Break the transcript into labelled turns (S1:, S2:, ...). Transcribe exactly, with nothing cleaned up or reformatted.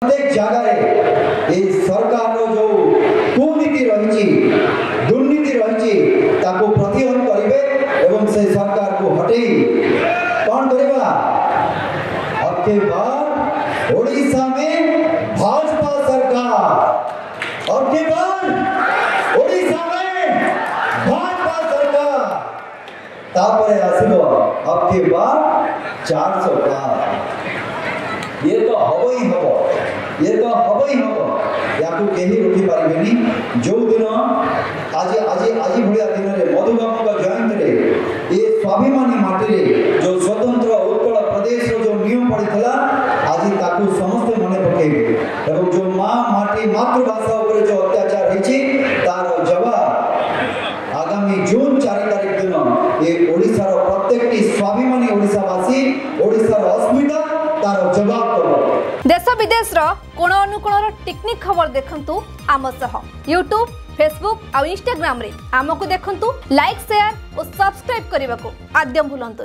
S1: ପ୍ରତ୍ୟେକ ଜାଗାରେ ଏଇ ସରକାରର ଯେଉଁ କୁନୀତି ରହିଛି, ଦୁର୍ନୀତି ରହିଛି, ତାକୁ ପ୍ରତିହତ କରିବେ ଏବଂ ସେ ସରକାରକୁ ହଟେଇ କ'ଣ କରିବା? अब की बार ओडिशा में भाजपा सरकार, अब की बार ओडिशा में भाजपा सरकार। ତାପରେ ଆସିବ अब की बार ଚାରିଶହ ପାର। ଇଏ ତ ହବ ହିଁ ହବ, ଇଏ ତ ହବ ହିଁ ହବ, ୟାକୁ କେହି ରୋକିପାରିବେନି। ଯୋଉଦିନ ଆଜି ଆଜି ଆଜି ଭଳିଆ ଦିନରେ, ମଧୁବାବୁଙ୍କ ଜୟନ୍ତୀରେ, ଏ ସ୍ୱାଭିମାନୀ ମାଟିରେ ଯୋଉ ସ୍ୱତନ୍ତ୍ର ଉତ୍କଳ ପ୍ରଦେଶର ଯୋଉ ନିୟମ ପଡ଼ିଥିଲା, ଆଜି ତାକୁ ସମସ୍ତେ ମନେ ପକେଇବେ ଏବଂ ଯୋଉ ମା ମାଟି ମାତୃଭାଷା ଉପରେ ଯୋଉ ଅତ୍ୟାଚାର ହେଇଛି, ତାର ଜବାବ ଆଗାମୀ ଜୁନ ଚାରି ତାରିଖ ଦିନ ଏ ଓଡ଼ିଶାର ପ୍ରତ୍ୟେକଟି ସ୍ୱାଭିମାନୀ ଓଡ଼ିଶାବାସୀ, ଓଡ଼ିଶାର ଅସ୍ମିତା ତାର ଜବାବ ଦେବ।
S2: ଦେଶ ବିଦେଶର କୋଣ ଅନୁକୋଣର ଟିକିନିଖି ଖବର ଦେଖନ୍ତୁ ଆମ ସହ ୟୁଟ୍ୟୁବ୍, ଫେସବୁକ୍ ଆଉ ଇନଷ୍ଟାଗ୍ରାମରେ ଆମକୁ ଦେଖନ୍ତୁ। ଲାଇକ୍, ସେୟାର ଓ ସବସ୍କ୍ରାଇବ୍ କରିବାକୁ ଆଦୌ ଭୁଲନ୍ତୁନି।